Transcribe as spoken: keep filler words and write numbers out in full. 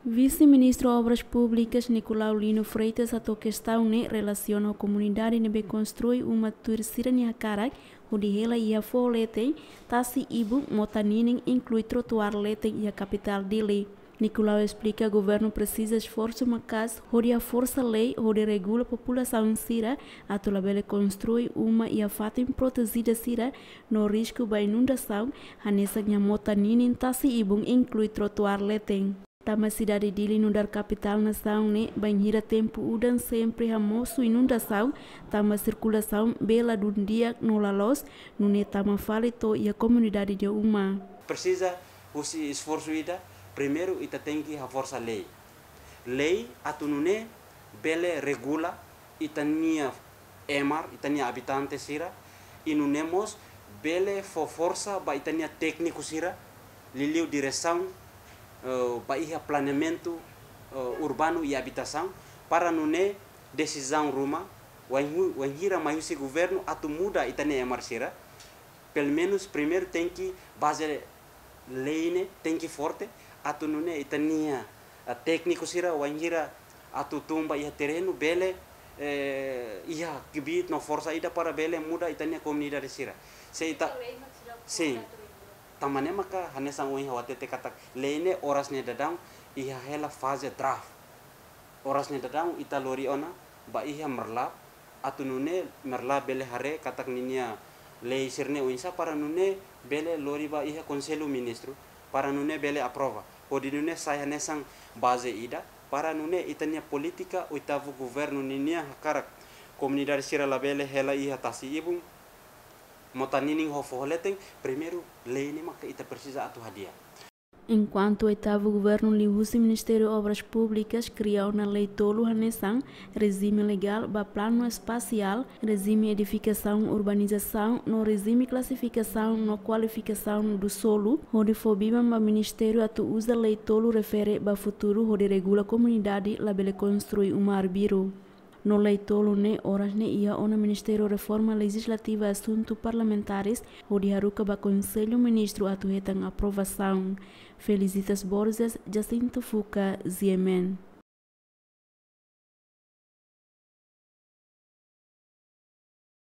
Vise-Ministru Obras Públikas Nicolau Lino Freitas hato'o kestaun ne'e relasiona ho komunidade ne'ebé konstrui uma tuir sira-nia hakarak hodi hela iha foho leten, tasi ibun, mota ninin, inklui trotuár leten iha kapitál Dili. Nicolau esplika governu presiza esforsu maka'as hodi haforsa lei hodi regula populasaun sira atu labele konstrui uma iha fatin protejida sira no risku ba inundasaun, hanesan iha mota ninin, tasi ibun, inklui trotuár leten. Tanba sidade Dili nu'udar kapitál nasaun ne'e bainhira tempu udan sempre hamosu inundasaun, tanba sirkulasaun bee ladún di'ak no la loos, nune'e tama fali to'o iha komunidade nia uma. Presiza husi esforsu ida, primeiru ita tenke haforsa lei. Lei atu nune'e bele regula ita-nia emar, ita-nia abitante sira, i nune'e mós bele fó forsa ba ita-nia tékniku sira, liuliu diresaun, eh, ba iha planeamentu, eh, urbanu i abitasaun, para nune'e desizaun ruma, wainhu-, wainhira mai husi governu atu muda ita-nia emar sira, pelumenus primeiru tenke baze lei ne'e tenke forte, atu nune'e ita-nia, ah, tékniku sira wainhira atu tun ba iha terrenu bele, eh, iha kbiit no forsa ida para bele muda ita-nia komunidade sira. Se ita, sin, tanba ne'e maka hanesan ohin ha'u hatete katak lei ne'e oras ne'e daudaun iha hela faze draft. Oras ne'e daudaun ita lori ona ba iha Merlap, atu nune'e Merlap bele haree katak ninia lei sira-ne'e oinsá para nune'e bele lori ba iha Konsellu Ministru, para nune'e bele aprova. Hodi nune'e sai hanesan baze ida, para nune'e ita-nia polítika oitavu governu ninia hakarak komunidade sira labele hela iha tasi ibun, mota ninin ho foho leten, primeiru lei ne'e maka ita presiza atu hadi'a. Enkuantu oitavu governu liuhusi Ministériu Obras Públikas kria ona lei tolu hanesan rejime legál ba planu espasiál, rejime edifikasaun urbanizasaun no rejime klasifikasaun no kualifikasaun do solu, hodi fó biban ba ministériu atu uza lei tolu refere ba futuru hodi regula komunidade labele konstrui uma arbiru. No lei tolu ne'e oras ne'e iha ona Ministériu Reforma Lejizlativa Asuntu Parlamentares hodi haruka ba Konsellu Ministru atu hetan aprovasaun. Felicitas Borges, Jacinto Fuca, G M N.